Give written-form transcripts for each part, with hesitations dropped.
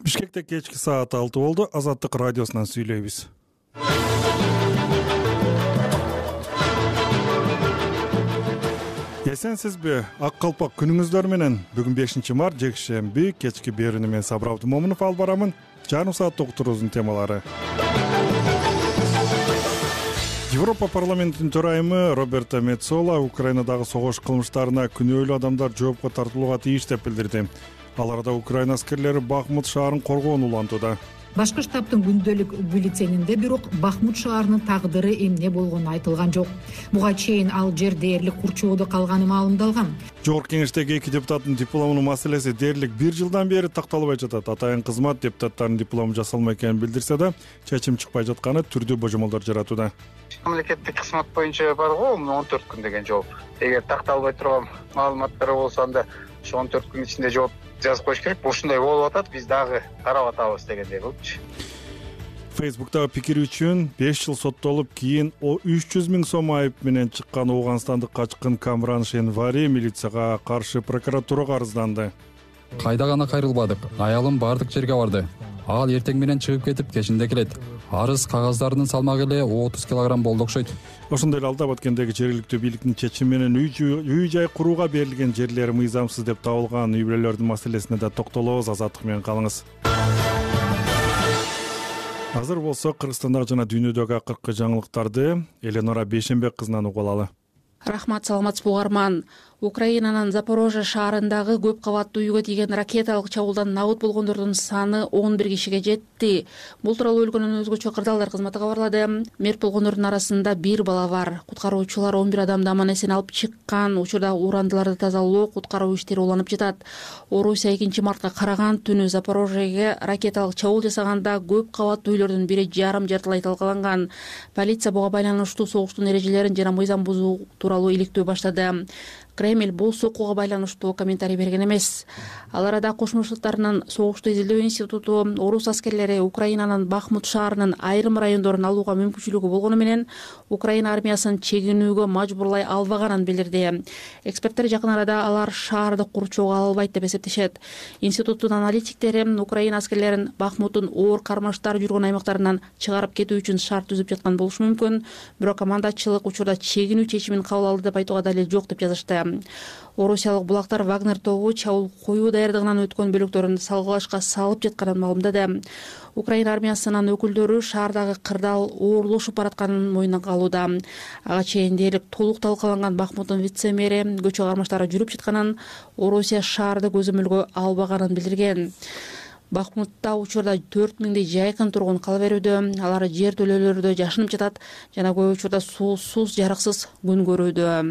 Бишкекте кечки саат 6 болду. Азаттык радиосунан сүйлөйбүз. Эсенсизби? Ак калпак күнүңүздөр менен. Бүгүн 5-март жекшемби кечки берүүнү мен Сабыр Абдымомунов алып барамын. Жарым саат уктуруубуздун темалары. Европа парламентинин төрайымы Роберто Меццола Украинадагы согуш кылмыштарына күнөөлүү адамдар жоопко тартылууга тийиш деп билдирди. Аларда Украина аскерлери Бахмут шаарын коргоону улантууда. Башкы штабтын күндөлүк бюллетенинде бирок Бахмут шаарынын тагдыры эмне болгону айтылган жок. Буга чейин ал жер дээрлик курчоодо калганы маалымдалган. Жогорку кеңештеги 2 депутаттын дипломунун маселеси дээрлик 1 жылдан бери такталбай жатат. Атайын кызмат депутаттардын диплому жасалмай экенин билдирсе да, чечим чыкпай жатканы түрдүү божомолдор жаратууда. Мамлекеттик кызмат боюнча бар го 14 күн деген жооп. Эгер такталбай турган маалыматтар болсо анда ошо 14 күн ичинде жооп жазып коюш керек. Ушундай болуп атат, биз дагы карап атабыз дегендей болчу. Фейсбуктагы пикири үчүн 5 жыл соттолуп, кийин 300 000 сом айып менен чыккан Ооганстандык качкын Камран Шенвари милицияга каршы прокуратурага арызданды. Кайда гана кайрылбадык. Аялым бардык жерге барды. Ал эртең менен чыгып кетип, кечинде келет. Арыз кагаздарынын салмагы эле 30 килограмм болду окшойт. Ошондой эле Алды Баткендеги жергиликтүү бийликтин чечими менен үй жай курууга берилген жерлер мыйзамсыз деп табылган үй бүлөлөрдүн маселесине да токтолобуз. Азаттык менен калыңыз. Азыр болсо Кыргызстандагы жана дүйнөдөгү акыркы жаңылыктарды Эленора Бейшенбек кызынан угуп алалы. Рахмат, саламатсызбы угарман. Украинанын Запорожье шаарындагы көп кабаттуу үйгө тийген ракеталык чабуулдан набыт болгондордун саны 11 кишиге жетти. Бул тууралуу өлкөнүн өзгөчө кырдаалдар кызматы кабарлады. Мерт болгондордун арасында 1 бала бар. Куткаруучулар 11 адамды аман эсен алып чыккан. Учурда урандыларды тазалоо, куткаруу иштери уланып жатат. Орусия 2-мартка караган түнү Запорожьеге ракеталык чабуул жасаганда көп кабаттуу үйлөрдүн бири жартылай талкаланган. Полиция буга байланыштуу согуштун эрежелерин жана мыйзам бузуу тууралуу иликтөө баштады. Кремль бул сокууга байланыштуу комментарий берген эмес. Ал арада Кошмо Штаттарынын согушту изилдөө институту орус аскерлери Украинанын Бахмут шаарынын айрым райондорун алууга мүмкүнчүлүгү болгону менен Украина армиясын чегинүүгө мажбурлай албаганын билдирди. Эксперттер жакын арада алар шаарды курчоого ала албайт деп эсептешет. Институттун аналитиктери Украина аскерлерин Бахмуттун оор кармаштар жүргөн аймактарынан чыгарып кетүү үчүн шарт түзүп жаткан болушу мүмкүн. Бирок командачылык учурда чегинүү чечимин кабыл алды деп айтууга далил жок деп жазышты. Орусиялык булактар Вагнер тобу чабуул коюу даярдыгынан өткөн бөлүктөрүн салгылашка салып жатканын маалымдады. Украина армиясынын өкүлдөрү шаардагы кырдаал оорлошуп баратканын мойнуна алууда. Ага чейин дээрлик толук талкаланган Бахмуттун вице-мэри көчө кармаштары жүрүп жатканын, Орусия шаарды көзөмөлгө албаганын билдирген. Бахмутта учурда 4000 жайкын тургун кала берүүдө. Алар жер төлөөлөрдө жашынып жатат жана көп учурда суусуз, жарыксыз күн көрүүдө.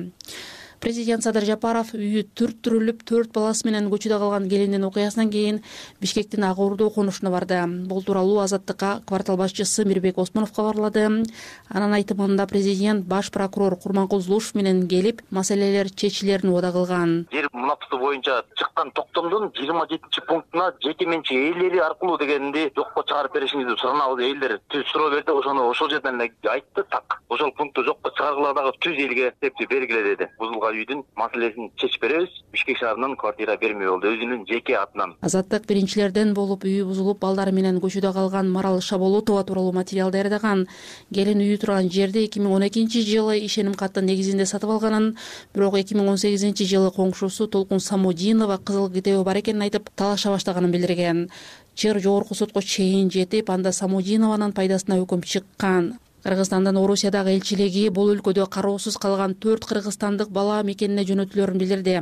Президент Садыр Жапаров үйү түрттүрүлүп 4 баласы менен көчүдө калган келиндин окуясынан кийин Бишкектин Ак Ордо конушуна барды. Бул тууралуу Азаттыкка квартал башчысы Мирбек Осмонов кабарлады. Анын айтымында президент баш прокурор Курманкул Зулушев менен келип, маселелер чечилерин убада кылган. Жер мунапты боюнча чыккан токтомдун 27-пунктуна жеке менчик ээлери аркылуу дегенди жокко чыгарып беришиңизди суранабыз. Элдер түз суроо берди, ошол жерден эле айтты, так. Ошол пункту жокко чыгаргыла дагы түз элге септип бергиле деди. Үйдүн маселесин чечип беребиз. Бишкек шаарынан квартира бермей болду, өзүнүн жеке атынан. Азаттык биринчилерден болуп үйү бузулуп, балдары менен көчүдө калган Марал Шаболотова тууралуу материал даярдаган. Келин үйү турган жерди 2012-жылы ишеним каттын негизинде сатып алганын, бирок 2018-жылы коңшусу Толкун Самодинова кызыл китеби бар экенин айтып, талаша баштаганын билдирген. Жер жогорку сотко чейин жетип, анда Самодинованын пайдасына өкүм чыккан. Кыргызстандын Орусиядагы элчилиги бул өлкөдө кароосуз калган 4 кыргызстандык бала мекенине жөнөтүлөрүн билдирди.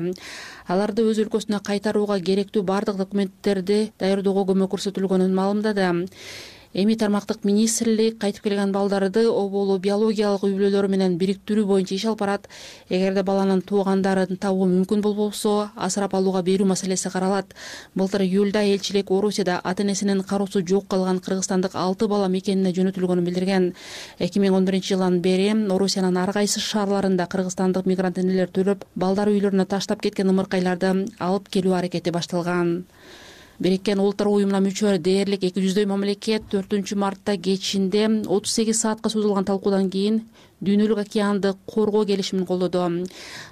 Аларды өз өлкөсүнө кайтарууга керектүү бардык документтерди даярдоого көмөк көрсөтүлгөнүн маалымдады. Эми тармактык министрлик кайтып келген балдарды оболу биологиялык үй бүлөлөрү менен бириктирүү боюнча иш алып барат. Эгерде баланын туугандарын табуу мүмкүн болбосо, асырап алууга берүү маселеси каралат. Былтыр июлда элчилик Орусияда ата-энесинин кароосу жок калган кыргызстандык 6 бала мекенине жөнөтүлгөнүн билдирген. 2011-жылдан бери Орусиянын ар кайсы шаарларында кыргызстандык мигрант энелер төлөп, балдар үйлөрүнө таштап кеткен ымыркайларды алып келүү аракети башталган. Бириккен Улуттар уюмуна мүчө дээрлик 200 мамлекет 4-мартта кечинде 38 саатка созулган талкуудан кийин дүйнөлүк океанды коргоо келишимин колдоду.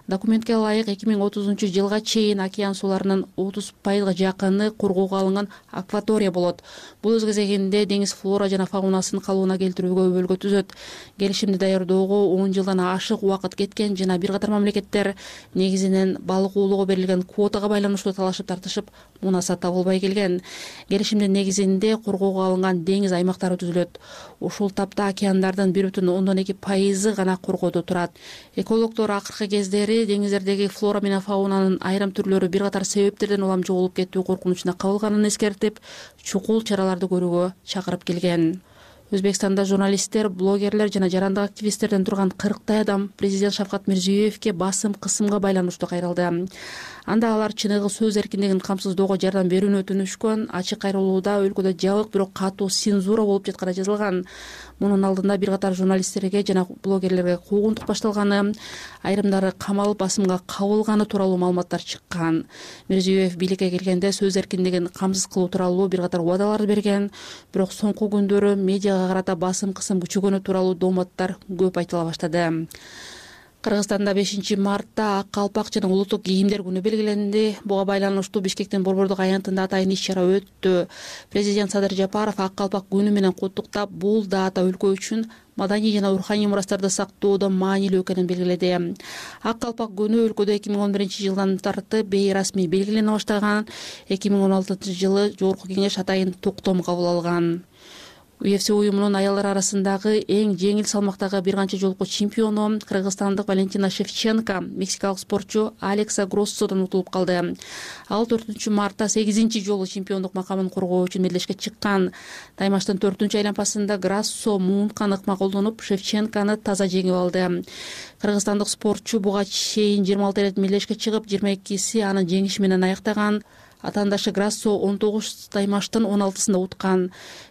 Документке ылайык 2030-жылга чейин океан сууларынын 30% жакыны коргоого алынган акватория болот. Бул өз кезегинде деңиз флора жана фаунасын калыбына келтирүүгө өбөлгө түзөт. Келишимди даярдоого 10 жылдан ашык убакыт кеткен жана бир катар мамлекеттер негизинен балык уулоого берилген квотага байланыштуу талашып тартышып, мунаса табылбай келген. Келишимдин негизинде коргоого алынган деңиз аймактары түзүлөт. Ушул тапта океандардын 1,2% гана коргоодо турат. Экологдор акыркы кездери деңиздердеги флора менен фаунанын айрым түрлөрү бир катар себептерден улам жоголуп кетүү коркунучуна кабылганын эскертип, чукул чараларды көрүүгө чакырып келген. Өзбекстанда журналисттер, блогерлер жана жарандык активисттерден турган 40 адам президент Шавкат Мирзиёевке басым кысымга байланыштуу кайрылды. Анда алар чыныгы сөз эркиндигин камсыздоого жардам берүүнү өтүнүшкөн. Ачык кайрылууда өлкөдө жабык, бирок катуу цензура болуп жатканы жазылган. Мунун алдында бир катар журналисттерге жана блогерлерге куугунтук башталганы, айрымдары камалып басымга кабылганы тууралуу маалыматтар чыккан. Мирзиёев бийликке келгенде сөз эркиндигин камсыз кылуу тууралуу бир катар убадалар берген, бирок соңку күндөрү медиага карата басым кысым күчөгөнү тууралуу дооматтар көп айтыла баштады. Кыргызстанда 5-мартта ак калпак жана улуттук кийимдер күнү белгиленди. Буга байланыштуу Бишкектин борбордук аянтында атайын иш-чара өттү. Президент Садыр Жапаров ак калпак күнү менен куттуктап, бул дата өлкө үчүн маданий жана руханий мурастарды сактоодо маанилүү экенин белгиледи. Ак калпак күнү өлкөдө 2011-жылдан тартып бейрасмий белгилене баштаган. 2016-жылы Жогорку Кеңеш атайын токтом кабыл алган. UFC уюмунун аялдар арасындагы эң жеңил салмактагы бир канча жолку чемпиону кыргызстандык Валентина Шевченко мексикалык спортчу Алекса Гроссодон утулуп калды. Ал 4-мартта 8-чи жолу чемпиондук макамын коргоо үчүн мелдешке чыккан. Таймаштын 4-чү айланпасында Гроссо муунткан ыкма колдонуп, Шевченкону таза жеңип алды. Кыргызстандык спортчу буга чейин 26 рет мелдешке чыгып, 22си анын жеңиши менен аяктаган. Атаандашы Гроссо 19 таймаштын 16-сында уткан.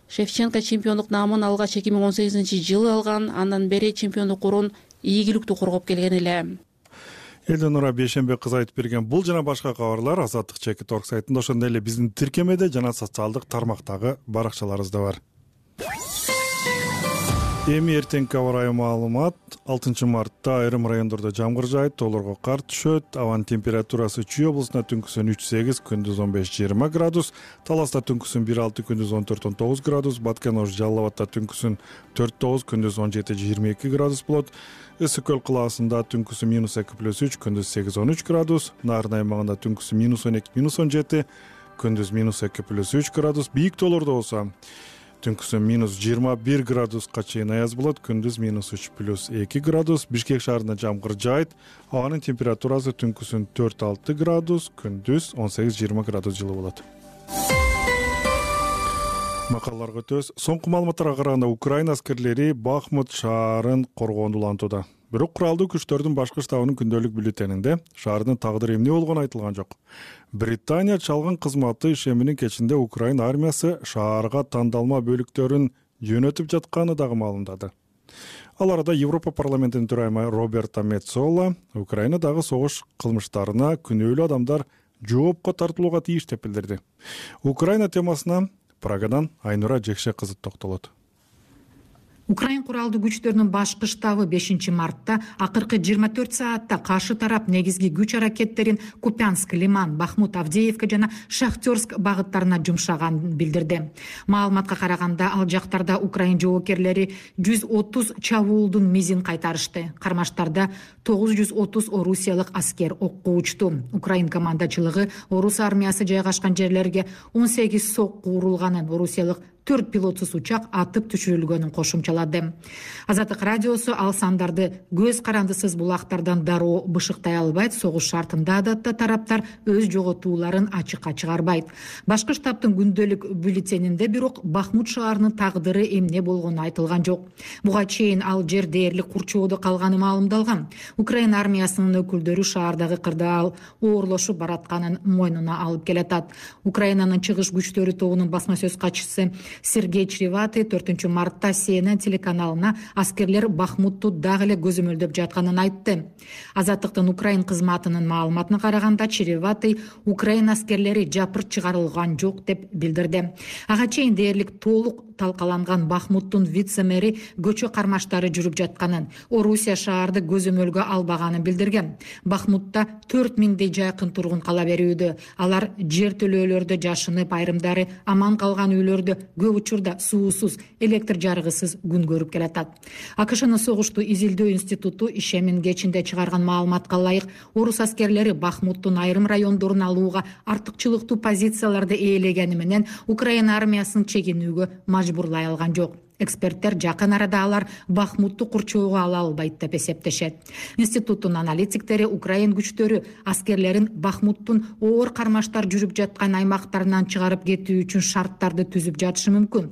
Шевченко чемпиондук наамын алгач 2018-жылы алган. Андан бери чемпиондук орун ийгиликтүү коргоп келген эле. Элденура Бейшембек кызы айтып берген бул жана башка кабарлар Азаттык Чекит орг сайтында, ошондой эле биздин тиркемеде жана социалдык тармактагы баракчаларыбызда бар. Эми эртеңки аба ырайы маалымат. 6-мартта айрым райондордо жамгыр жаайт, тоолорго кар түшөт. Абанын температурасы Чүй облусунда түнкүсүн 3-8, күндүз 15-20 градус, Таласта түнкүсүн 1-6, күндүз 14-19 градус, Баткен-Ош Жалал Абадта түнкүсүн 4-9, күндүз 17-22 градус болот. Ысык көл кылаасында түнкүсү -2+3, күндүз 8-13 градус, Нарын аймагында түнкүсү -12, -17, күндүз -2+3 градус, бийик тоолордо болсо түнкүсү -21 градуска чейин аяз болот, күндүз -3+2 градус. Бишкек шаарында жамгыр жаайт, абанын температурасы түнкүсүн 4-6 градус, күндүз 18-20 градус жылы болот. Макалаларга өтөбүз. Соңку маалыматтарга караганда Украина аскерлери Бахмут шаарын коргоону улантууда. Бирок куралдуу күчтөрдүн башкы штабынын күндөлүк бюллетенинде шаардын тагдыры эмне болгону айтылган жок. Британия чалгын кызматы ишеминин кечинде Украина армиясы шаарга тандалма бөлүктөрүн жөнөтүп жатканы дагы маалымдады. Ал арада Европа парламентинин төрайымы Роберта Мецола Украинадагы согуш кылмыштарына күнөөлүү адамдар жоопко тартылууга тийиш деп билдирди. Украина темасына Прагадан Айнура Жекше кызы токтолот. Украин куралдуу күчтөрүнүн башкы штабы 5-мартта акыркы 24 саатта каршы тарап негизги күч аракеттерин Купянск, Лиман, Бахмут, Авдеевка жана Шахтерск багыттарына жумшаганын билдирди. Маалыматка караганда ал жактарда Украин жоокерлери 130 чабуулдун мизин кайтарышты. Кармаштарда 930 орусиялык аскер окко учту. Украин командачылыгы орус армиясы жайгашкан жерлерге 18 сокку урулганын, орусиялык 4 пилотсуз учак атып түшүрүлгөнүн кошумчалады. Азаттык радиосу ал сандарды көз карандысыз булактардан дароо бышыктай албайт. Согуш шартында адатта тараптар өз жоготууларын ачыкка чыгарбайт. Башкы штабтын күндөлүк бюллетенинде бирок Бахмут шаарынын тагдыры эмне болгону айтылган жок. Буга чейин ал жер дээрлик курчоодо калганы маалымдалган. Украина армиясынын өкүлдөрү шаардагы кырдаал оорлошуп баратканын мойнуна алып келатат. Украинанын чыгыш күчтөрү тобунун басма сөз катчысы Сергей Чреватый 4 мартта CNN телеканалына аскерлер Бахмутту дагы эле көзөмөлдөп жатканын айтты. Азаттыктын Украин кызматынын маалыматына караганда Чреватый Украин аскерлери жапырт чыгарылган жок деп билдирди. Ага чейин дээрлик толук талкаланган Бахмуттун вице-мэри көчө кармаштары жүрүп жатканын, Орусия шаарды көзөмөлгө албаганын билдирген. Бахмутта 4000дей жайкын тургун кала берүүдө. Алар жер төлөөлөрдө жашынып, айрымдары аман калган үйлөрдө көп учурда суусуз, электр жарыгысыз күн көрүп келатат. АКШнын согушту изилдөө институту ишемин кечинде чыгарган маалыматка ылайык, орус аскерлери Бахмуттун айрым райондорун алууга артыкчылыктуу позицияларды ээлегени менен Украина армиясын чегинүүгө мажбурлай алган жок. Эксперттер жакын арада алар Бахмутту курчоого ала албайт деп эсептешет. Институттун аналитиктери Украин күчтөрү аскерлерин Бахмуттун оор кармаштар жүрүп жаткан аймактарынан чыгарып кетүү үчүн шарттарды түзүп жатышы мүмкүн.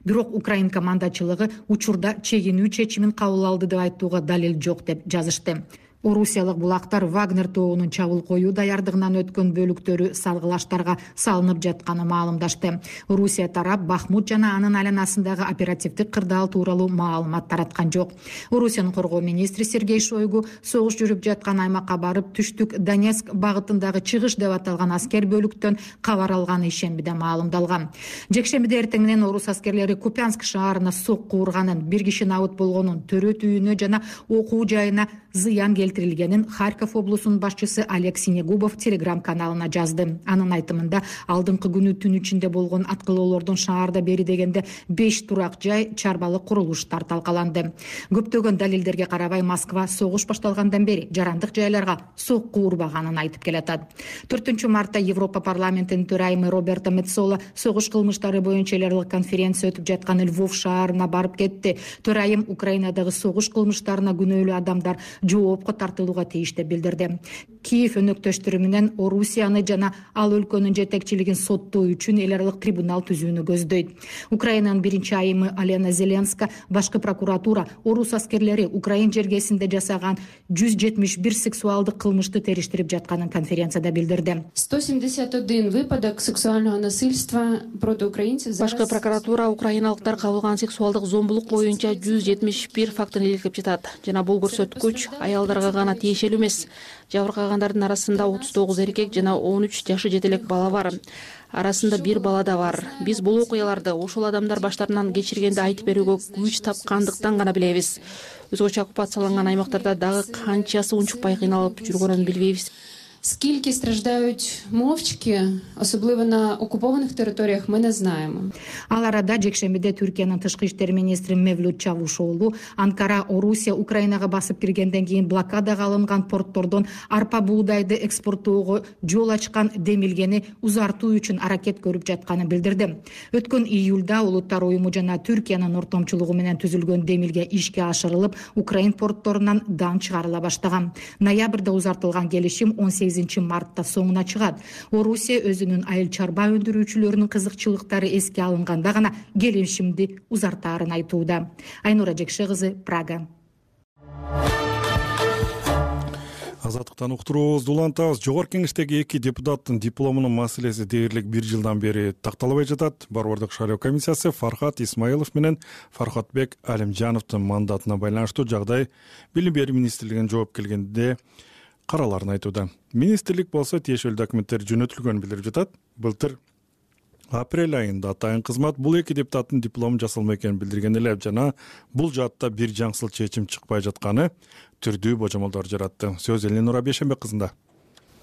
Бирок Украин командачылыгы учурда чегинүү чечимин кабыл алды деп айтууга далил жок деп жазышты. Орусиялык булактар Вагнер тобунун чабуул коюу даярдыгынан өткөн бөлүктөрү салгылаштарга салынып жатканын маалымдашты. Орусия тарап Бахмут жана анын айланасындагы оперативдик кырдаал тууралуу маалымат тараткан жок. Орусиянын коргоо министри Сергей Шойгу согуш жүрүп жаткан аймакка барып, түштүк Донецк багытындагы чыгыш деп аталган аскер бөлүктөн кабар алганы ишембиде маалымдалган. Жекшембиде эртең менен орус аскерлери Купянск шаарына сокку урганын, 1 киши набыт болгонун, төрөт үйүнө жана окуу жайына зыян келтирилгенин Харьков облусунун башчысы Олег Синегубов телеграм-каналына жазды. Анын айтымында алдыңкы күнү түн ичинде болгон аткылоолордон шаарда бери дегенде 5 турак жай, чарбалык курулуштар талкаланды. Көптөгөн далилдерге карабай Москва согуш башталгандан бери жарандык жайларга сокку урбаганын айтып келатат. 4 мартта Европа парламентинин төрайымы Роберто Меццола согуш кылмыштары боюнча эл аралык конференция өтүп жаткан Львов шаарына барып кетти. Төрайым Украинадагы согуш кылмыштарына күнөөлүү адамдар жоопко тартылууга тийиш деп билдирди. Киев өнөктөштөрү менен Орусияны жана ал өлкөнүн жетекчилигин соттоо үчүн эл аралык трибунал түзүүнү көздөйт. Украинанын 1-айымы Алена Зеленска башкы прокуратура орус аскерлери Украин жергесинде жасаган 171 сексуалдык кылмышты териштирип жатканын конференцияда билдирди. 171 выпадок сексуального насильства против украинцев. Башкы прокуратура украиналыктар кабылган сексуалдык зомбулук боюнча 171 фактын иликтеп жатат. Жана бул көрсөткүч аялдарга гана тиешелүү эмес. Жабыркагандардын арасында 39 эркек жана 13 жашы жетелек бала бар. Арасында 1 бала да бар. Биз бул окуяларды ошол адамдар баштарынан кечиргенди айтып берүүгө күч тапкандыктан гана билебиз. Өзгөчө оккупацияланган аймактарда дагы канчасы унчукпай кыйналып жүргөнүн билбейбиз. Скільки страждають мовчки, особливо на окупованих територіях, ми не знаємо. Ал арада жекшембиде Түркиянын тышкы иштер министри Мевлют Чавушоğlu Анкара Орусия Украинага басып киргенден кийин блокадага алынган порттордон арпа буудайды экспорттоого жол ачкан демилгени узартуу үчүн аракет көрүп жатканын билдирди. Өткөн июлда Улуттар уюму жана Түркиянын ортомчулугу менен түзүлгөн демилге ишке ашырылып, Украин портторунан дан чыгарыла баштаган. Ноябрда узартылган келишим 18 мартта соңуна чыгат. Орусия өзүнүн айыл чарба өндүрүүчүлөрүнүн кызыкчылыктары эске алынганда гана келишимди узартаарын айтууда. Айнура Жекше кызы, Прага. Азаттыктан уктуруубузду улантабыз. Жогорку кеңештеги 2 депутаттын дипломунун маселеси дээрлик 1 жылдан бери такталбай жатат. Борбордук шайлоо комиссиясы Фархат Исмаилов менен Фархатбек Алимжановдун мандатына байланыштуу жагдай Билим берүү министрлигинин жооп келгенде караларын айтууда. Министрлик болсо тиешелүү документтер жөнөтүлгөнүн билдирип жатат. Былтыр апрель айында атайын кызмат бул 2 депутаттын диплому жасалмай экенин билдирген эле жана бул жаатта бир жаңсыл чечим чыкпай жатканы түрдүү божомолдор жаратты. Сөз Эленура Бешенбек кызында.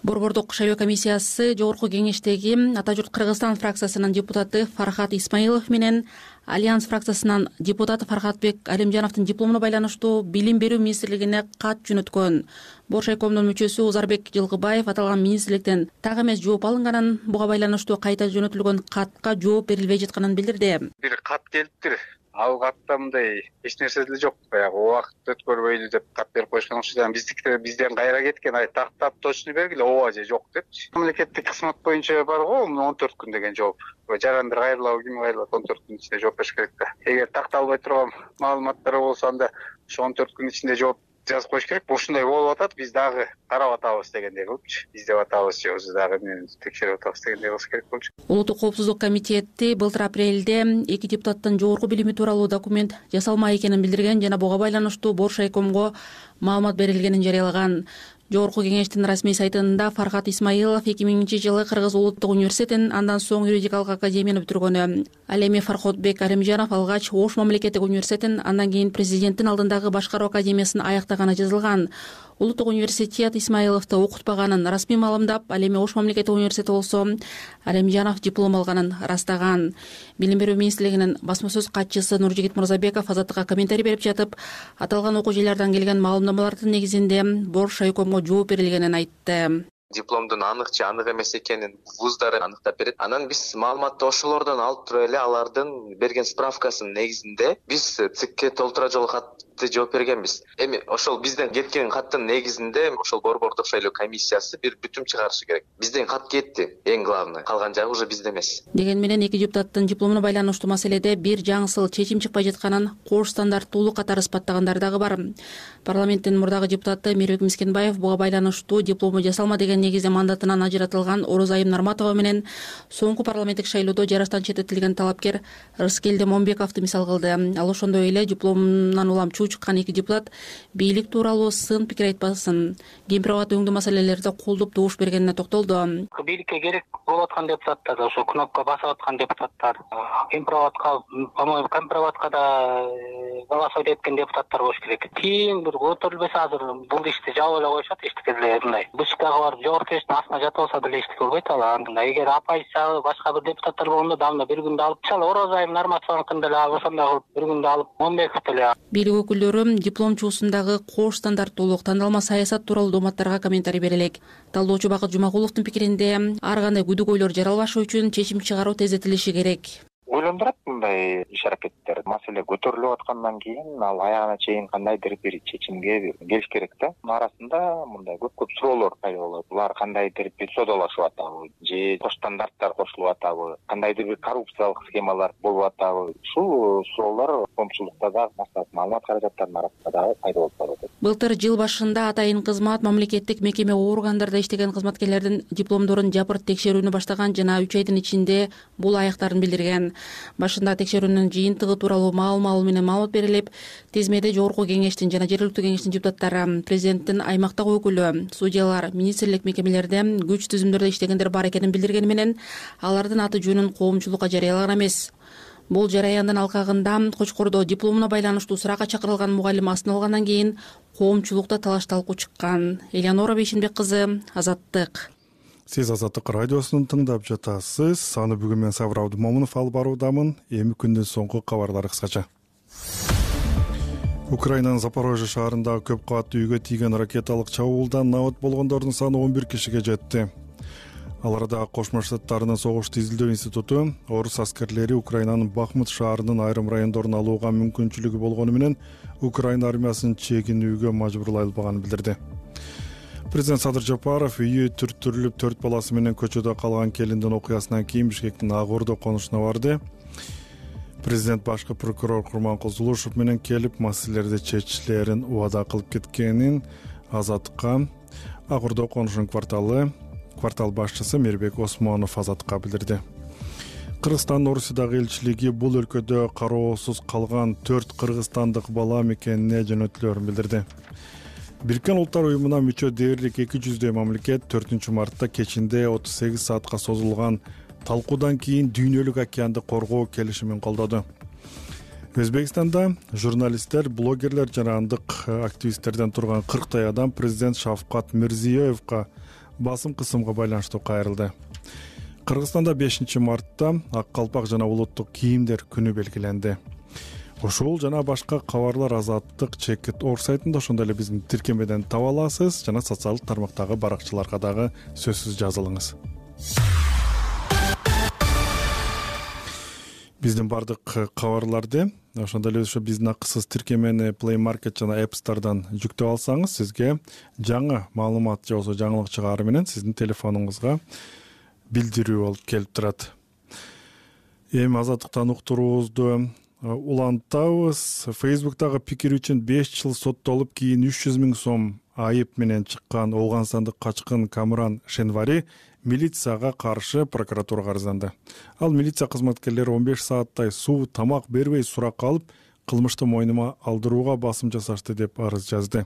Борбордук шайлоо комиссиясы жогорку кеңештеги Ата журт Кыргызстан фракциясынын депутаты Фархат Исмаилов менен Альянс фракциясынын депутаты Фархатбек Алимжановдун дипломуна байланыштуу Билим берүү министрлигине кат жөнөткөн. Боршайкомдун мүчөсү Узарбек Жылгыбаев аталган министрликтен так эмес жооп алынганын, буга байланыштуу кайта жөнөтүлгөн катка жооп берилбей жатканын билдирди. Бир кат келиптир. Ал катта мындай эч нерсе деле жок. Баягы убакыт өткөрбөйлү деп кат берип коюшкан окшойт. Бизден кайра кеткен, тактап точно бергиле, ооба же жок депчи. Мамлекеттик кызмат боюнча бар го, 14 күн деген жооп. Жарандар кайрылабы, ким кайрылат, 14 күн ичинде жооп бериш керек да. Эгер такталбай турган маалыматтар болсо анда ошо 14 күн ичинде жооп жазып коюш керек. Ушундай болуп атат, биз дагы карап атабыз дегендей кылыпчы. Издеп атабыз же өзү дагы текшерип атабыз дегендей кылыш керек болчу. Улуттук коопсуздук комитети былтыр апрелде эки депутаттын жогорку билими тууралуу документ жасалмак экенин билдирген жана буга байланыштуу Бош райкомго маалымат берилгенин жарыялаган. Жогорку кеңештин расмий сайтында Фархат Исмаилов 2000-жылы Кыргыз улуттук университетин, андан соң юридикалык академияны бүтүргөнү. Ал эми Фархотбек Алимжанов алгач Ош мамлекеттик университетин, андан кийин президенттин алдындагы башкаруу академиясын аяктаганы жазылган. Улуттук университет Исмаиловду окутпаганын расмий маалымдап, ал эми Ош мамлекеттик университети болсо Алимжанов диплом алганын ырастаган. Билим берүү министрлигинин басма сөз катчысы Нуржигит Мурзабеков Азаттыкка комментарий берип жатып, аталган окуу жайлардан келген маалымдамалардын негизинде Бош райкомго жооп берилгенин айтты. Дипломдун анык же анык эмес экенин вуздары аныктап берет. Анан биз маалыматты ошолордон алып туруп эле алардын берген справкасынын негизинде биз ЦИКке толтура жолу катты жооп бергенбиз. Эми ошол бизден кеткен каттын негизинде ошол борбордук шайлоо комиссиясы бир бүтүм чыгарышы керек. Бизден кат кетти, эң главный. Калган жагы уже бизде эмес. Деген менен эки депутаттын дипломуна байланыштуу маселеде бир жаңысыл чечим чыкпай жатканын кош стандарттуулук катары испаттагандар дагы бар. Парламенттин мурдагы депутаты Мирбек Мискенбаев буга байланыштуу диплому жасалма деген негизде мандатынан ажыратылган Орозайым Нарматова менен соңку парламенттик шайлоодо жараштан четтетилген талапкер Рыскелди Момбековду мисал кылды. Ал ошондой эле дипломунан улам чуу чыккан эки депутат бийлик тууралуу сын пикир айтпасын, кемпир-абат өңдүү маселелерде колдоп добуш бергенине токтолду. Бийликке керек болуп аткан депутаттар, ошо кнопка басып аткан депутаттар, кемпир-абатка, по-моему, кемпир-абатка да голосовать эткен депутаттар болуш керек. Кийин бир көтөрүлбөсө азыр бул ишти жабып эле коюшат, эчтеке деле мындай. Бышкага барып жогорку кеңештин астына жатып алса деле эчтеке болбойт ал. Эгер оппозиция башка бир депутаттар болгондо дагы бир күндө алып, мисалы Орозайым Нарматованыкын деле ошондой кылып бир күндө алып, Момбеков деле. Бийлик өкүлдөрү дипломчусундагы кош стандарттуулук, тандалма саясат тууралуу дооматтарга комментарий берелек. Талдоочу Бакыт Жумагуловдун пикиринде, ар кандай күдүк-ойлор жаралбашы үчүн чечим чыгаруу тездетилиши керек. Ойлондурат мындай иш аракеттер. Маселе көтөрүлүп аткандан кийин ал аягына чейин кандайдыр бир чечимге келиш керек да. Мунун арасында мындай көп суроолор пайда болот. Булар кандайдыр бир содалашып атабы же кош стандарттар кошулуп атабы, кандайдыр бир коррупциялык схемалар болуп атабы. Ушул суроолор коомчулукта да, маалымат каражаттарынын арасында дагы пайда болуп атат. Былтыр жыл башында атайын кызмат мамлекеттик мекеме органдарда иштеген кызматкерлердин дипломдорун жапырт текшерүүнү баштаган жана 3 айдын ичинде бул аяктарын билдирген. Башында текшерүүнүн жыйынтыгы тууралуу маалымат менен маалымат берилип, тизмеде жогорку кеңештин жана жергиликтүү кеңештин депутаттары, президенттин аймактагы өкүлү, судьялар, министрлик мекемелерде күч түзүмдөрдө иштегендер бар экенин билдиргени менен алардын аты жөнүн коомчулукка жарыялаган эмес. Бул жараяндын алкагында Кочкордо дипломуна байланыштуу суракка чакырылган мугалим астына алгандан кийин коомчулукта талаш-талкуу чыккан. Элеонора Бейшенбек кызы, Азаттык. Сиз Азаттык радиосун тыңдап жатасыз. Аны бүгүн мен Сабыр Абдымомунов алып баруудамын. Эми күндүн соңку кабарлары кыскача. Украинанын Запорожье шаарындагы көп кабаттуу үйгө тийген ракеталык чабуулдан набат болгондордун саны 11 кишиге жетти. Ал арада Кошмо Штаттарынын согушту изилдөө институту орус аскерлери Украинанын Бахмут шаарынын айрым райондорун алууга мүмкүнчүлүгү болгону менен Украина армиясын чегинүүгө мажбурлай албаганын билдирди. Президент Садыр Жапаров үйү түртүрүлүп 4 баласы менен көчөдө калган келиндин окуясынан кийин Бишкектин Ак Ордо конушуна барды. Президент башкы прокурор Курманкул Зулушев менен келип маселелерди чечиштерин убада кылып кеткенин Азаттыкка Ак Ордо конушунун квартал башчысы Мирбек Осмонов Азаттыкка билдирди. Кыргызстандын Орусиядагы элчилиги бул өлкөдө кароосуз калган 4 кыргызстандык бала мекенине жөнөтүлөрүн билдирди. Бириккен Улуттар уюмуна мүчө дээрлик 200 мамлекет 4 мартта кечинде 38 саатка созулган талкуудан кийин дүйнөлүк океанды коргоо келишимин колдоду. Өзбекстанда журналисттер, блогерлер жана андык активисттерден турган 40 адам президент Шавкат Мирзиёевго басым кысымга байланыштуу кайрылды. Кыргызстанда 5 мартта ак калпак жана улуттук кийимдер күнү белгиленди. Ошол жана башка кабарлар Азаттык Чекит.org сайтында, ошондой эле биздин тиркемеден таба аласыз жана социалдык тармактагы баракчыларга дагы сөзсүз жазылыңыз. Биздин бардык кабарларды ошондой эле биздин акысыз тиркемени Play Market жана App Store'дан жүктөп алсаңыз, сизге жаңы маалымат же болбосо жаңылык чыгаары менен сиздин телефонуңузга билдирүү болуп келип турат. Эми Азаттыктан уктуруубузду улантабыз. Facebook'тагы пикир үчүн 5 жыл соттолуп, кийин 300 000 сом айып менен чыккан Ооганстандык качкын Камран Шенвари милицияга каршы прокуратурага арызданды. Ал милиция кызматкерлери 15 сааттай суу, тамак бербей суракка алып, кылмышты мойнума алдырууга басым жасашты деп арыз жазды.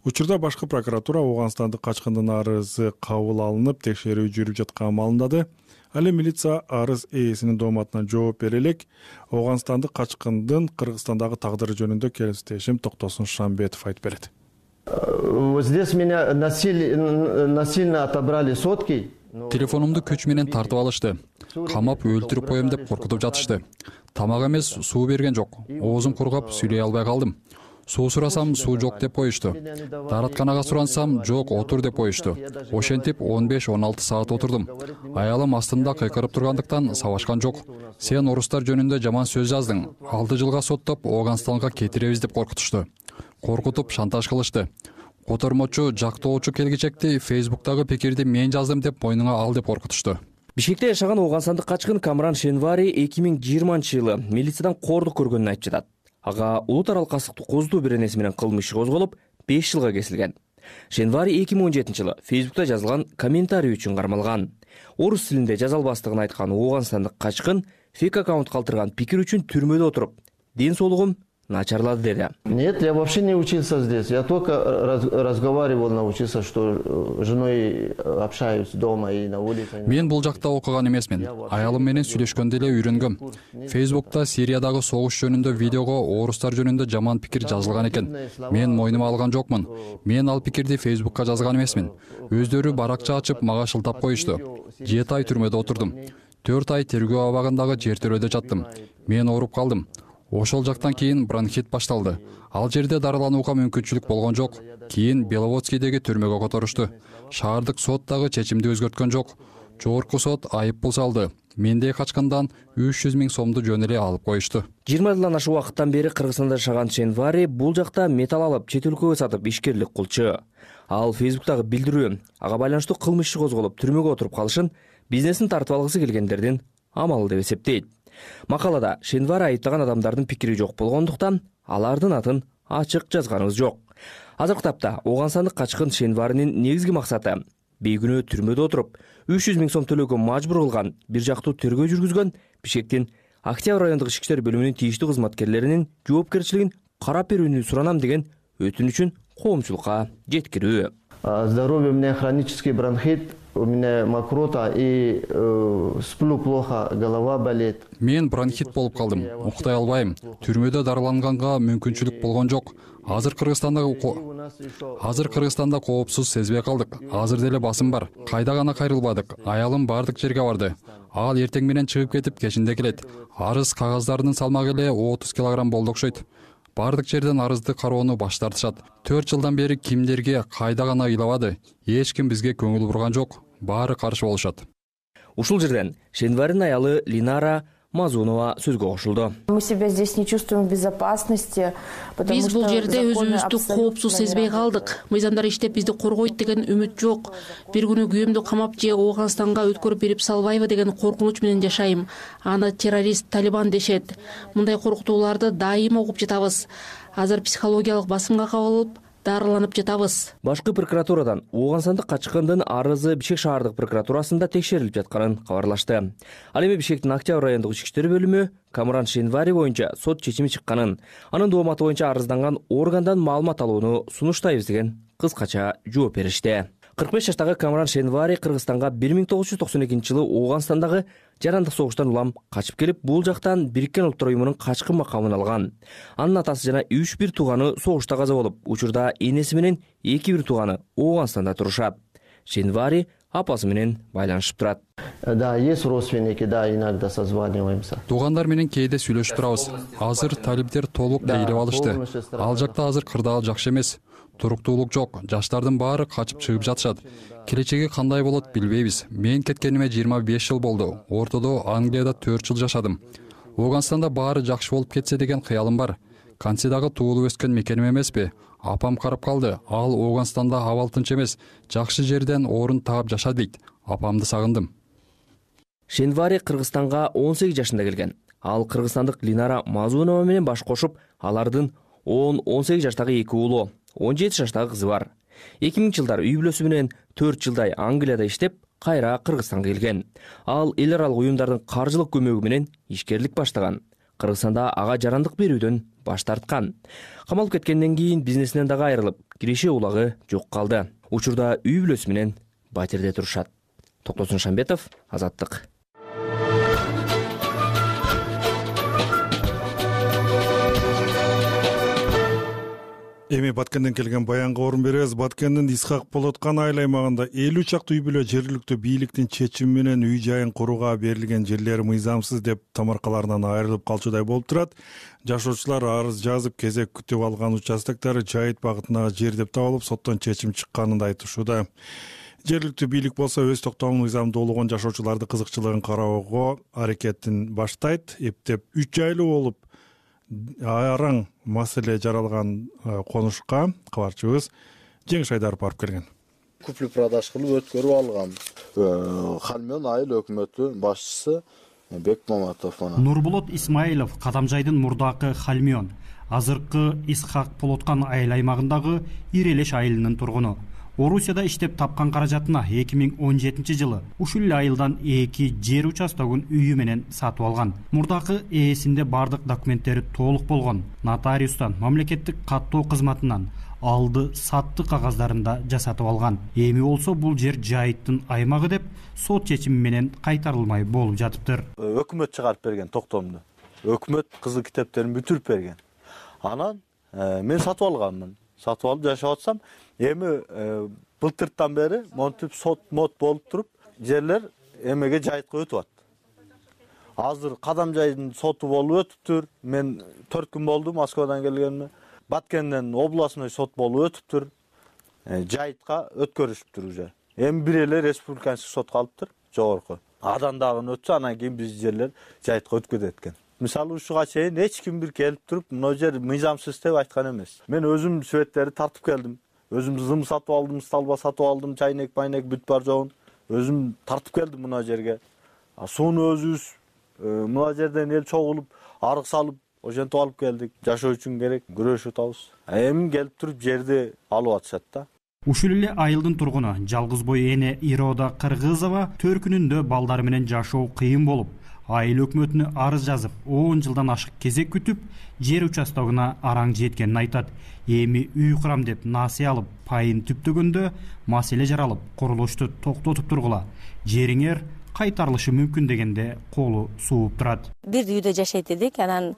Учурда башкы прокуратура Ооганстандык качкындын арызы кабыл алынып, текшерүү жүрүп жатканын маалымдады. Ал эми милиция арыз ээсинин дооматына жооп бере элек. Ооганстандык качкындын Кыргызстандагы тагдыры жөнүндө келиптешим Токтосун Шамбетов айтып берет. Здесь меня насильно отобрали сотки. Телефонумду күч менен тартып алышты. Камап өлтүрүп коем деп коркутуп жатышты. Тамак эмес, суу берген жок. Оозум кургап, сүйлөй албай калдым. Суу сурасам, суу жок деп коюшту. Дааратканага сурансам, жок, отур деп коюшту. Ошентип 15-16 саат отурдум. Аялым астымда кыйкырып тургандыктан сабашкан жок. Сен орустар жөнүндө жаман сөз жаздың. 6 жылга соттоп, Ооганстанга кетиребиз деп коркутушту. Коркутуп шантаж кылышты. Котормочу, жактоочу келгичекти Facebook'тагы пикирди мен жаздым деп мойнуңа ал деп коркутушту. Бишкекте жашаган ооганстандык качкын Камран Шенвари 2020-жылы милициядан кордук көргөнүн айтып жатат. Ага улут аралык кастыктуу козутуу беренеси менен кылмыш иши козголуп, 5 жылга кесилген. Шенвари 2017-жылы Facebook'та жазылган комментарий үчүн кармалган. Орус тилинде жаза албастыгын айткан ооганстандык качкын фейк аккаунт калтырган пикир үчүн түрмөдө отуруп, ден соолугум начарлады деди. Нет, я вообще не учился здесь. Я только разговаривал, научился, что женой общаюсь дома и на улице. Мен бул жакта окуган эмесмин. Аялым менен сүйлөшкөндө эле үйрөнгөм. Facebook'та Сириядагы согуш жөнүндө видеого орустар жөнүндө жаман пикир жазылган экен. Мен мойнума алган жокмун. Мен ал пикирди Facebook'ка жазган эмесмин. Өздөрү баракча ачып мага шылтап коюшту. 7 ай түрмөдө отурдум. 4 ай тергөө абагындагы жертөлөдө жаттым. Мен ооруп калдым. Ошол жактан кийин бронхит башталды. Ал жерде дарыланууга мүмкүнчүлүк болгон жок. Кийин Беловодскийдеги түрмөгө которушту. Шаардык сот дагы чечимди өзгөрткөн жок. Жогорку сот айып пул салды. Мендей качкындан 300 000 сомду жөн эле алып коюшту. 20 жылдан ашык убакыттан бери Кыргызстанда жашаган Шенвари бул жакта металл алып, чет өлкөгө сатып ишкерлик кылчу. Ал Facebook'тагы билдирүү ага байланыштуу кылмыш иши козголуп, түрмөгө отуруп калышын бизнесин тартып алгысы келгендердин амалы деп эсептейт. Макалада Шенвари айыптаган адамдардын пикири жок болгондуктан алардын атын ачык жазганыбыз жок. Азыркы тапта Ооганстандык качкын Шенваринин негизги максаты бейгүнөө түрмөдө отуруп 300 000 сом төлөөгө мажбур кылган бир жактуу тергөө жүргүзгөн Бишкектин Октябрь райондук ички иштер бөлүмүнүн тийиштүү кызматкерлеринин жоопкерчилигин карап берүүнү суранам деген өтүнүчүн коомчулукка жеткирүү. Здоровье, у меня хронический бронхит, у меня мокрота и сплю плохо, голова болит. Мен бронхит болуп калдым. Уктай албайм. Түрмөдө дарыланганга мүмкүнчүлүк болгон жок. Азыр Кыргызстанда коопсуз сезбей калдык. Азыр деле басым бар. Кайда гана кайрылбадык. Аялым бардык жерге барды. Ал эртең менен чыгып кетип, кечинде келет. Арыз кагаздарынын салмагы эле 30 килограмм болду окшойт. Бардык жерден арызды кароону баш тартышат. 4 жылдан бери кимдерге кайда гана ыйлабады. Эч ким бизге көңүл бурган жок. Баары каршы болушат. Ушул жерден Шенваринин аялы Линара Мазунова сөзгө кошулду. Мы себя здесь не чувствуем в безопасности, потому что биз бул жерде өзүбүздү коопсуз сезбей калдык. Мыйзамдар иштеп бизди коргойт деген үмүт жок. Бир күнү күйөөмдү камап же Ооганстанга өткөрүп берип салбайбы деген коркунуч менен жашайм. Аны террорист, Талибан дешет. Мындай коркутууларды дайыма угуп жатабыз. Азыр психологиялык басымга кабылып, дарыланып жатабыз. Башкы прокуратурадан Ооганстандык качкындын арызы Бишкек шаардык прокуратурасында текшерилип жатканын кабарлашты. Ал эми Бишкектин Октябрь райондук ички иштер бөлүмү Камран Шенвари боюнча сот чечими чыкканын, анын дооматы боюнча арызданган органдан маалымат алууну сунуштайбыз деген кыскача жооп беришти. 45 жаштагы Камран Шенвари Кыргызстанга 1992-жылы Ооганстандагы жарандык согуштан улам качып келип, бул жактан Бириккен Улуттар уюмунун качкын макамын алган. Анын атасы жана 3 бир тууганы согушта каза болуп, учурда энеси менен 2 бир тууганы Ооганстанда турушат. Шенвари апасы менен байланышып турат. Да, есть родственники, да, иногда созваниваемся. Туугандар менен кээде сүйлөшүп турабыз. Азыр талиптер толук ээлеп алышты. Ал жакта азыр кырдаал жакшы эмес. Туруктуулук жок. Жаштардын баары качып чыгып жатышат. Келечеги кандай болот билбейбиз. Мен кеткениме 25 жыл болду. Ортодо Англияда 4 жыл жашадым. Ооганстанда баары жакшы болуп кетсе деген кыялым бар. Кансидагы туулуп өскөн мекеним эмеспи? Апам карап калды. Ал Ооганстанда абал тынч эмес. Жакшы жерден орун таап жашат дейт. Апамды сагындым. Шенвари Кыргызстанга 18 жашында келген. Ал кыргызстандык Линара Мазунова менен баш кошуп, алардын 10-18 жаштагы 2 уулу, 17 жаштагы кызы бар. 2000 жылдар үй бүлөсү менен 4 жылдай Англияда иштеп, кайра Кыргызстанга келген. Ал эл аралык уюмдардын каржылык көмөгү менен ишкерлик баштаган. Кыргызстанда ага жарандык берүүдөн баш тарткан. Камалып кеткенден кийин бизнесинен дагы айрылып, киреше улагы жок калды. Учурда үй бүлөсү менен батирде турушат. Токтосун Шамбетов, Азаттык. Эми Баткенден келген баянга орун беребиз. Баткендин Исхак Полоткан айыл аймагында 50 чакты үй бүлө жергиликтүү бийликтин чечими менен үй жайын курууга берилген жерлери мыйзамсыз деп тамаркаларынан айрылып калчудай болуп турат. Жашоочулар арыз жазып кезек күтүп алган участоктары жайыт багытындагы жер деп табылып, соттон чечим чыкканын айтышууда. Жергиликтүү бийлик болсо өз токтомун мыйзамдуулугун жашоочуларды кызыкчылыгын кароого аракетин баштайт. Эптеп 3 жайлуу болуп араң маселе жаралган конушка кабарчыбыз Жеңиш Айдаров барып келген. Купли продаж кылып өткөрүп алгам. Хальмён айыл өкмөтү башчысы Бек Маматов. Нурбулот Исмаилов Кадамжайдын мурдакы Хальмён, азыркы Исхак Полоткан айыл аймагындагы Ирелеш айылынын тургуну. Орусияда иштеп тапкан каражатына 2017 жылы ушул эле айылдан 2 жер участогун үйү менен сатып алган. Мурдакы ээсинде бардык документтери толук болгон. Нотариустан, мамлекеттик каттоо кызматынан алды сатты кагаздарында жасатып алган. Эми болсо бул жер жайыттын аймагы деп сот чечими менен кайтарылмай болуп жатыптыр. Өкмөт чыгарып берген токтомду. Өкмөт кызыл китептерин бүтүрүп берген. Анан мен сатып алганмын. Сатып алып жашап атсам, эми былтыртан бери монтип сот болуп туруп, жерлер эмеге жайытка өтүп атат. Азыр Кадамжайдын соту болуп өтүптүр. Мен 4 күн болду Москвадан келгениме. Баткенден областной сот болуп өтүптүр. Жайытка өткөрүшүптүр уже. Эми бир эле республиканчылык сот калыптыр, жогорку. Адан дагы өтсө, анан кийин биз жерлер жайытка өтүп кетет экен. Мисалы ушуга чейин эч ким бир келип туруп, мына жер мыйзамсыз деп айткан эмес. Мен өзүм светтерди тартып келдим. Өзүм зым сатып алдым, столба сатып алдым, чайнек, майнек бүт бар жогун. Өзүм тартып келдим мына жерге. Сууну өзүбүз мына жерден эл чогулуп, арык салып, ошентип алып келдик. Жашоо үчүн керек, күрөшүп атабыз. Эми келип туруп жерди алып атышат да. Ушул эле айылдын тургуну жалгыз бой эне Ирода Кыргызова төркүнүндө балдары менен жашоо кыйын болуп, айыл өкмөтүнө арыз жазып, 10 жылдан ашык кезек күтүп, жер участогуна араң жеткенин айтат. Эми үй курам деп насыя алып, пайын түптөгөндө маселе жаралып, курулушту токтотуп тургула. Жериңер кайтарылышы мүмкүн дегенде колу сууп турат. Бир үйдө жашайт эдик, анан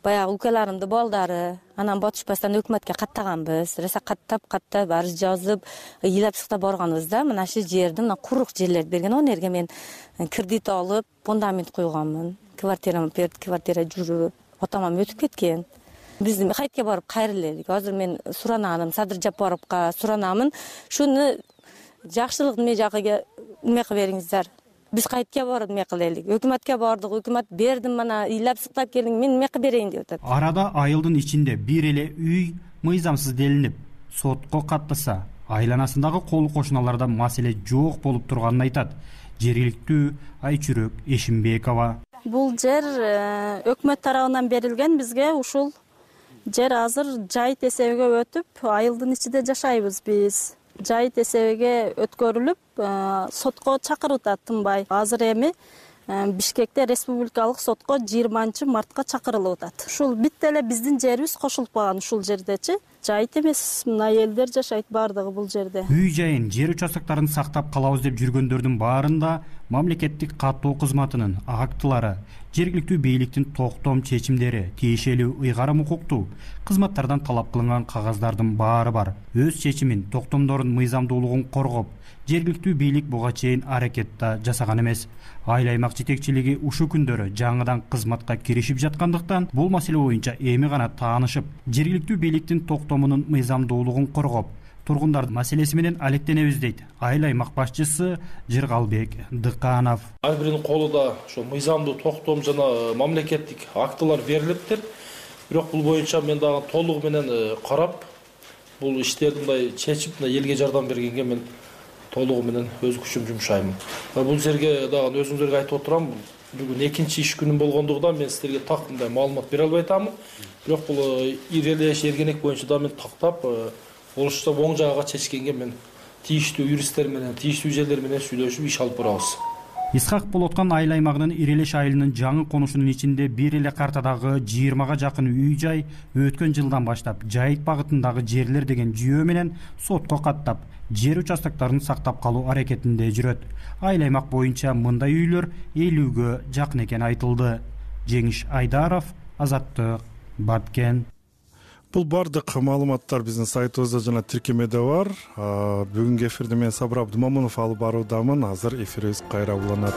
баягы укаларымдын балдары, анан батышпастан өкмөткө каттаганбыз. Роса каттап арыз жазып, ыйлап-сыктап барганбыз да. Мына шу жерди, мына курук жерлерди берген. Ал жерге мен кредит алып, фундамент койгонмун. Квартирам берди, квартира жүрүп, отамам өтүп кеткен. Биз кайтка барып кайрылелик. Азыр мен суранамын, Садыр Жапаровго суранамын. Шуну жакшылык эме жагыга эме кылып бериңиздер. Биз кайтка барып эме кылелик. Өкмөткө бардык, өкмөт бердим, мана ыйлап-сыктап келдиң, мен эме кылып берейин деп атат. Арада айылдын ичинде бир эле үй мыйзамсыз делинип, сотко каттаса, айланасындагы кол кошуналарда маселе жок болуп турганын айтат жергиликтүү Айчүрөк Эшимбекова. Бул жер өкмөт тарабынан берилген бизге. Ушул жер азыр жайыт эсебиге өтүп, айылдын ичинде жашайбыз биз. Жайыт эсебиге өткөрүлүп, сотко чакырып атат тынбай. Азыр эми Бишкекте республикалык сотко 20-мартка чакырылып атат. Ушул бүт эле биздин жерибиз кошулуп калган ушул жердечи. Жайыт эмес, мына элдер жашайт бардыгы бул жерде. Үй жайын, жер участоктарын сактап калабыз деп жүргөндөрдүн баарында мамлекеттик каттоо кызматынын актылары, жергиликтүү бийликтин токтом чечимдери, тиешелүү ыйгарым укуктуу кызматтардан талап кылынган кагаздардын баары бар. Өз чечимин, токтомдордун мыйзамдуулугун коргоп, жергиликтүү бийлик буга чейин аракетта жасаган эмес. Айыл аймак жетекчилиги ушул күндөрү жаңыдан кызматка киришип жаткандыктан, бул маселе боюнча эми гана таанышып, жергиликтүү бийликтин токтомунун мыйзамдуулугун коргоп, тургундардын маселеси менен алектенебиз дейт айыл аймак башчысы Жыргалбек Дыканов. Ар биринин колунда ошо мыйзамдуу токтом жана мамлекеттик актылар берилиптир. Бирок бул боюнча мен дагы толугу менен карап, бул иштерди мындай чечип, элге жардам бергенге мен толугу менен өз күчүм жумшаймын. Бул жерге дагы өзүңүзөргө айтып отурам, бүгүн экинчи иш күнүм болгондугунан мен силерге так мындай маалымат бере албай атамын. Бирок бул ирелеш эргенек боюнча да мен тактап олушта оң жагага чечкенге мен тийиштүү юристтер менен, тийиштүү жерлер менен сүйлөшүп иш алып барабыз. Исхак болуп аткан айыл аймагынын Ирелеш айылынын жаңы конушунун ичинде бир эле картадагы 20га жакын үй жай өткөн жылдан баштап Жайык багытындагы жерлер деген жүйө менен сотко каттап, жер участокторун сактап калуу аракетинде жүрөт. Айыл аймак боюнча мындай үйлөр 50ге жакын экени айтылды. Жеңиш Айдаров, Азаттык, Баткен. Бул бардык маалыматтар биздин сайтыбызда жана тиркемеде бар. Бүгүнкү эфирди мен Сабыр Абдымамунов алып баруудамын. Азыр эфирибиз кайра уланат.